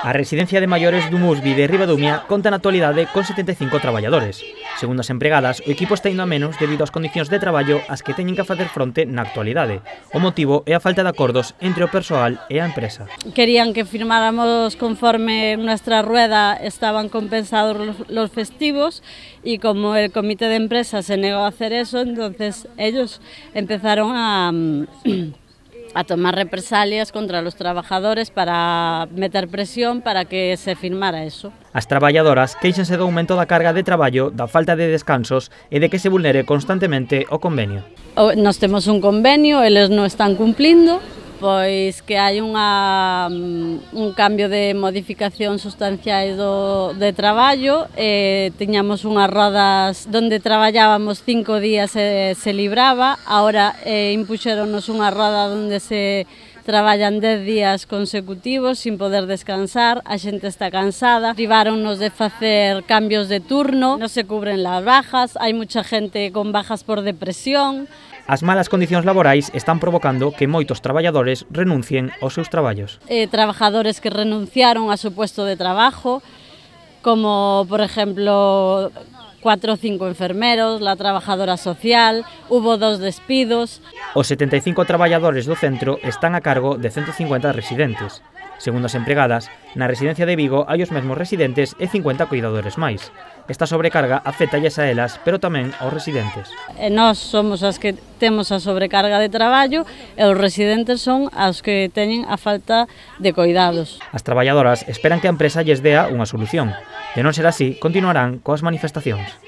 A residencia de maiores do Musbi de Ribadumia conta na actualidade con 75 traballadores. Segundo as empregadas, o equipo está indo a menos debido ás condicións de traballo ás que teñen que facer fronte na actualidade. O motivo é a falta de acordos entre o persoal e a empresa. Querían que firmáramos conforme nuestra rueda estaban compensados los festivos y como el comité de empresa se negó a hacer eso, entonces ellos empezaron a tomar represalias contra los trabajadores para meter presión para que se firmara eso. As traballadoras queixanse do aumento da carga de traballo, da falta de descansos e de que se vulnere constantemente o convenio. Nós temos un convenio, eles non están cumplindo, pois que hai un cambio de modificación sustanciais de traballo, tiñamos unhas rodas onde traballábamos 5 días e se libraba, agora impuxéronos unha roda onde se traballan 10 días consecutivos sin poder descansar, a xente está cansada, priváronnos de facer cambios de turno, non se cubren las bajas, hai mucha gente con bajas por depresión. As malas condicións laborais están provocando que moitos traballadores renuncien aos seus traballos. Trabajadores que renunciaron a su puesto de trabajo, como por ejemplo 4 o 5 enfermeros, la trabajadora social, hubo 2 despidos. Os 75 traballadores do centro están a cargo de 150 residentes. Segundo as empregadas, na residencia de Vigo hai os mesmos residentes e 50 cuidadores máis. Esta sobrecarga afétalles a elas, pero tamén aos residentes. Nós somos as que temos a sobrecarga de traballo e os residentes son as que teñen a falta de cuidados. As traballadoras esperan que a empresa lles dea unha solución. De non ser así, continuarán coas manifestacións.